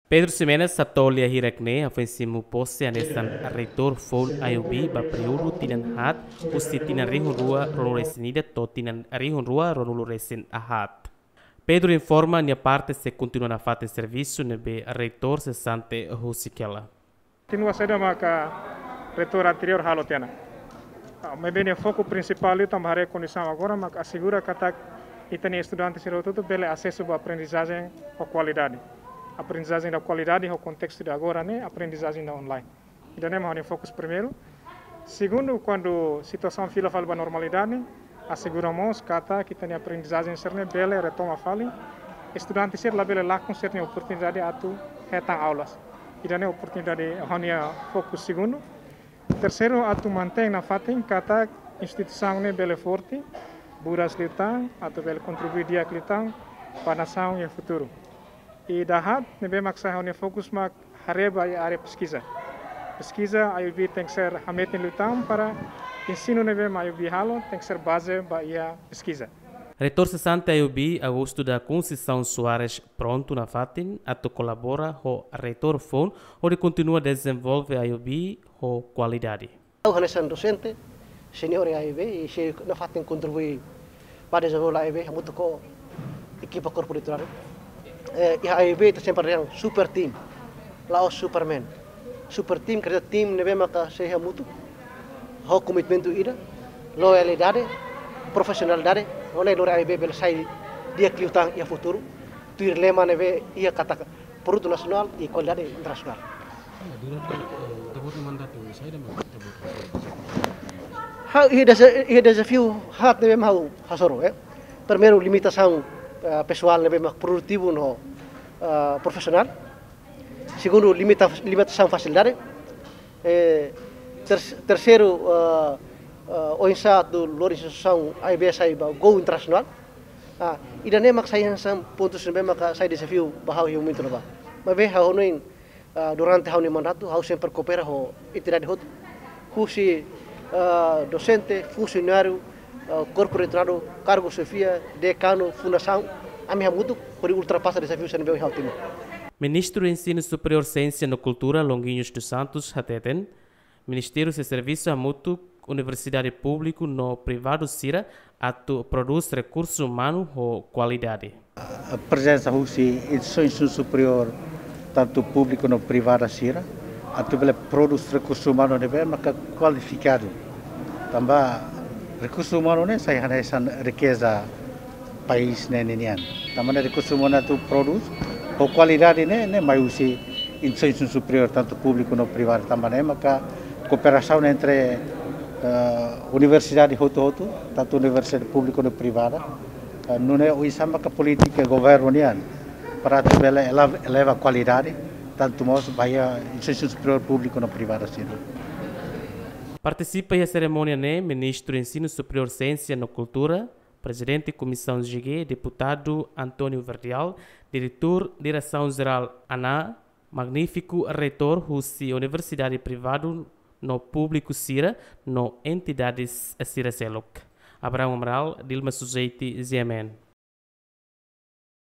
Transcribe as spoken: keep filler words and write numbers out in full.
Pedro Ximenes hato'o lia hirak ne'e hafoin simu pose hanesan reitór foun I O B ba períodu tinan haat, husi tinan rihun rua ruanulu resin ida to'o tinan rihun rua ruanulu resin haat. Pedro informa nia parte sei kontinua nafatin servisu ne'ebé reitór sesante husik hela. Kontinua saida maka reitór anteriór halo tiha ona. Ah, maibé nia foku prinsipál liután ba haree kondisaun agora maka asegura katak ita-nia estudante sira hotu-hotu bele asesu ba aprendizajen ho kualidade. Aprendizajen da kualidade ho kontestu ida agora ne'e, aprendizajen da online. Ida-ne'e mak ha'u-nia fokus primeiru. Segundu, kuandu situasaun fila fali ba normalidade, asegura mós katak ita-nia aprendizajen sira-ne'e bele retoma fali. Estudante sira labele lakon sira-nia oportunidade atu hetan aulas. Ida-ne'e oportunidade ha'u-nia fokus segundu. Terseiru, atu mantein nafatin katak instituisaun ne'e bele forte, buras liután, atu bele kontribui di'ak liután ba nasaun iha futuru. I dahaat, ne'ebé mak sai ha'u-nia fokus mak haree ba iha área peskiza. Peskiza, I O B tenke ser hametin liután para ensinu ne'ebé mak I O B halo, tenke ser baze ba iha peskiza. Reitór sesante I O B, Augusto da Conceição Soares, prontu nafatin atu kolabora ho reitór foun hodi kontinua dezenvolve I O B ho kualidade. Ha'u hanesan dosente senior iha I O B, i sei nafatin kontribui ba dezenvolve I O B hamutuk ho ekipa korpu reitoradu. Eh, iha I O B ita sempre dehan super team, la'ós Superman. Super team, kerja tim ne'ebé maka sei hamutuk ho komitmentu ida, loyalidade, profisionalidade, hodi lori I O B bele sai di'ak liután iha futuru, tuir lema ne'ebé iha katak produtu nasionál i kualidade internasionál. Durante, eh, ita-boot nia mandatu, saida mak ita-boot? Ha'u iha deza-, iha dezafiu haat ne'ebé mak ha'u hasoru, eh. Primeiru, limitasaun, eh, pesoál ne'ebé mak produtivu no, eh, profisionál. Segundu, limita-, limitasaun fasilidade. Eh, ters-, terseiru, eh, eh, oinsá atu lori instituisaun I O B sai ba go internasionál. Ah, ida-ne'e mak sai hanesan pontus ne'ebé maka sai dezafiu ba ha'u iha momentu ne'ebá. Maibé ha'u hanoin, ah, durante ha'u-nia mandatu, ha'u sempre koopera ho entidade hotu. Husi, ah, dosente, funsionáriu, ah, korpu reitoradu, kargu xefia, dekanu, fundasaun, ami hamutuk, hodi ultrapasa dezafiu sira ne'ebé ohin ha'u temi. Ministru Ensinu Superiór, Siénsia no Kultura, Longuinhos dos Santos, hateten, Ministériu sei servisu hamutuk universidade públiku no privadu sira atu prodús rekursu umanu ho kualidade. A prezensa husi instituisaun superiór, tantu públiku no privada sira, atu bele prodús rekursu umanu ne'ebé maka kualifikadu. Tanba rekursu umanu ne'e sai hanesan rikeza país ne'e ninian. Tanba ne'e rekursu umanu atu prodús ho kualidade ne'e, ne'e mai husi instituisaun superiór, tantu públiku no privada. Tanba ne'e maka kooperasaun entre, eh, universidade hotu-hotu, tantu universidade públiku no privada, eh, nune'e oinsá maka polítika governu nian para atu bele eleva, eleva kualidade, tantu mós ba iha instituisaun superiór públiku no privada sira. Partisipa iha serimónia ne'e Ministru Ensinu Superiór, Siénsia no Kultura, Prezidente Komisaun G G, Deputadu António Verdial, Diretór Diresaun Jerál ANAAA, magnífiku reitór husi universidade privadu no públiku sira, no entidades sira seluk. Abrão Amaral, Dilma Sujeiti, G M N.